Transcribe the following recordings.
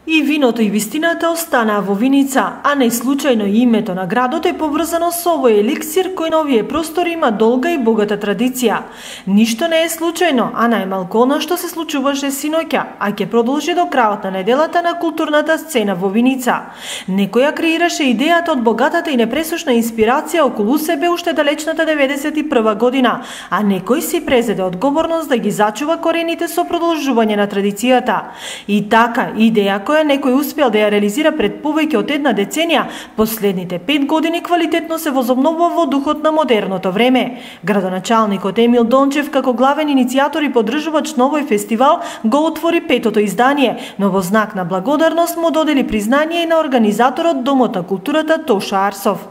И виното и вистината останаа во Виница, а не случајно името на градот е поврзано со овој еликсир кој на овие простори има долга и богата традиција. Ништо не е случајно, а најмалку она што се случуваше синоќа, а ќе продолжи до крајот на неделата на културната сцена во Виница. Некој ја креираше идејата од богатата и непресушна инспирација околу себе уште далечната 91 година, а некој си презеде одговорност да ги зачува корените со продолжување на традицијата. И така, идеја која некој успел да ја реализира пред повеќе од една деценија, последните 5 години квалитетно се возобновува во духот на модерното време. Градоначалникот Емил Дончев како главен иницијатор и поддржувач на овој фестивал го отвори 5-то издание, но во знак на благодарност му додели признание и на организаторот Домот на културата Тоша Арсов.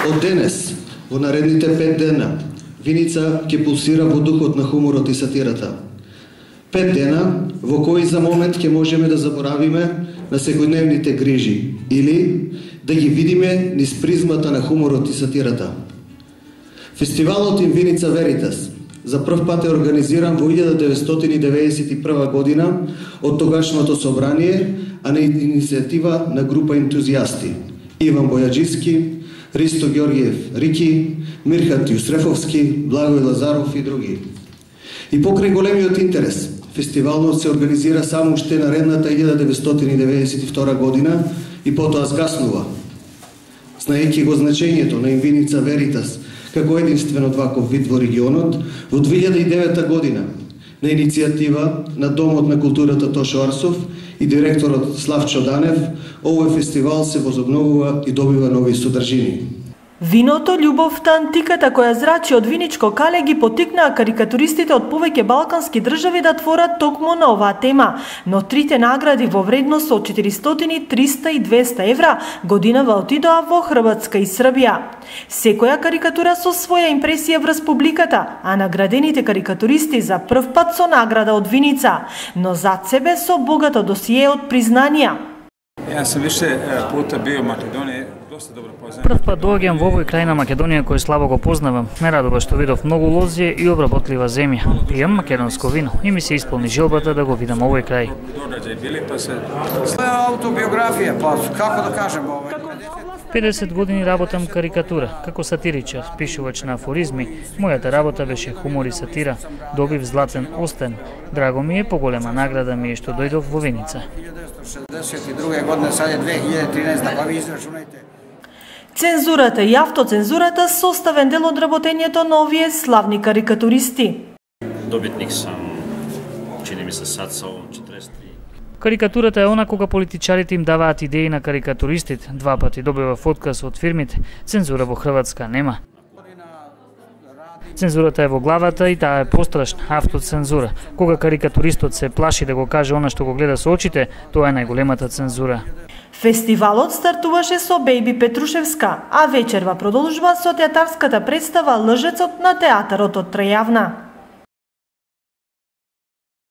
Од денес, во наредните 5 дена, Виница ќе пулсира во духот на хуморот и сатирата. 5 дена во кои за момент ќе можеме да заборавиме на секојдневните грижи или да ги видиме низ призмата на хуморот и сатирата. Фестивалот In Vinica Veritas за прв пат е организиран во 1991 година од тогашното собрание, а на иницијатива на група ентузијасти Иван Бојаджиски, Ристо Ѓорѓиев Рики, Мирхат Јусрефовски, Благој Лазаров и други. И покрај големиот интерес, фестивалот се организира само уште наредната 1992 година и потоа згаснува. Знаејќи го значењето на In Vinica Veritas како единствен од ваков вид во регионот, во 2009 година на иницијатива на Домот на културата Тошо Арсов и директорот Славчо Данев, овој фестивал се возобновува и добива нови содржини. Виното, љубовта, антиката која зрачи од виничко кале ги потикнаа карикатуристите од повеќе балкански држави да творат токму на оваа тема, но трите награди во вредност од 400, 300 и 200 евра годинава отидоа во Хрватска и Србија. Секоја карикатура со своја импресија врз публиката, а наградените карикатуристи за прв пат со награда од Виница, но зад себе со богато досие од признанија. Јас сум више пута био Македонија. Прв пат доаѓам во овој крај на Македонија кој слабо го познавам. Ме радува што видов многу лозје и обработлива земја. Пијам македонско вино и ми се исполни желбата да го видам овој крај. Автобиографија, па како да кажем 50 години работам карикатура, како сатиричар, пишувач на афоризми. Мојата работа беше хумор и сатира. Добив златен остен. Драго ми е, поголема награда ми е што дојдов во Виница. 1962 година, сад е 2013, па ви израчунајте. Цензурата и автоцензурата составен дел од работењето на овие славни карикатуристи. Добитник сам, чини ми се сад со 43. Карикатурата е она кога политичарите им даваат идеи на карикатуристите. 2 пати добивав отказ од фирмите. Цензура во Хрватска нема. Цензурата е во главата и таа е пострашна, автоцензура. Кога карикатуристот се плаши да го каже она што го гледа со очите, тоа е најголемата цензура. Фестивалот стартуваше со Бејби Петрушевска, а вечерва продолжува со театарската представа Лжецот на театарот од Трајавна.